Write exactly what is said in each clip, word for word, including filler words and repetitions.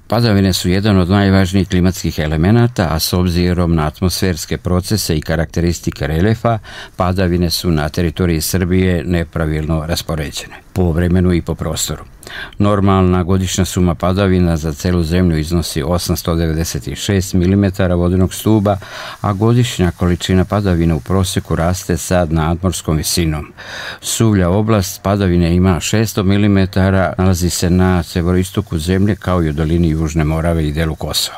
Padavine su jedan od najvažnijih klimatskih elemenata, a s obzirom na atmosferske procese i karakteristike reljefa, padavine su na teritoriji Srbije nepravilno raspoređene, po vremenu i po prostoru. Normalna godišnja suma padavina za celu zemlju iznosi osamsto devedeset šest milimetara vodenog stuba, a godišnja količina padavina u prosjeku raste sa nadmorskom visinom. Suvlja oblast padavine ima šesto milimetara, nalazi se na severoistoku zemlje kao i u dolini Južne Morave i delu Kosova.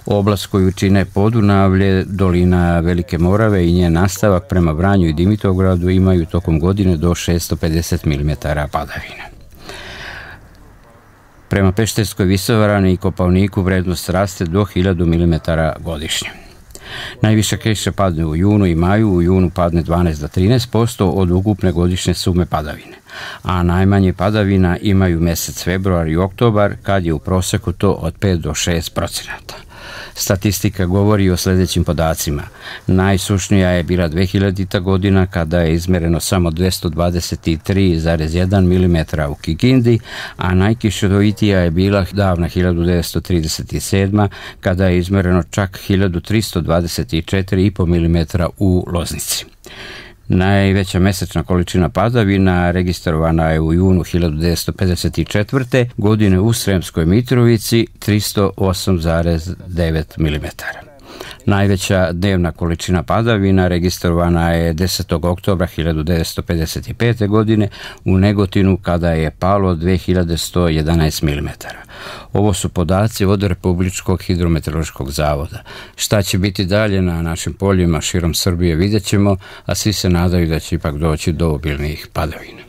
Oblast koju čine Podunavlje, dolina Velike Morave i njen nastavak prema Vranju i Dimitrovgradu imaju tokom godine do šesto pedeset milimetara padavina. Prema Pešterskoj visoravni i Kopaoniku vrednost raste do hiljadu milimetara godišnje. Najviša kiša padne u junu i maju, u junu padne dvanaest do trinaest posto od ukupne godišnje sume padavine, a najmanje padavina imaju mesec februar i oktobar, kad je u proseku to od pet do šest procenata. Statistika govori o sljedećim podacima. Najsušnija je bila dvehiljadita godina kada je izmereno samo dvesta dvadeset tri zarez jedan milimetra u Kikindi, a najkišovitija je bila davna hiljadu devetsto trideset sedma kada je izmereno čak hiljadu tristo dvadeset četiri zarez pet milimetra u Loznici. Najveća mesečna količina padavina registrovana je u junu hiljadu devetsto pedeset četvrte godine u Sremskoj Mitrovici tristo osam zarez devet milimetara. Najveća dnevna količina padavina registrovana je desetog oktobra hiljadu devetsto pedeset pete godine u Negotinu kada je palo dve hiljade sto jedanaest milimetara. Ovo su podaci od Republičkog hidrometeorološkog zavoda. Šta će biti dalje na našim poljima širom Srbije vidjet ćemo, a svi se nadaju da će ipak doći do obilnijih padavina.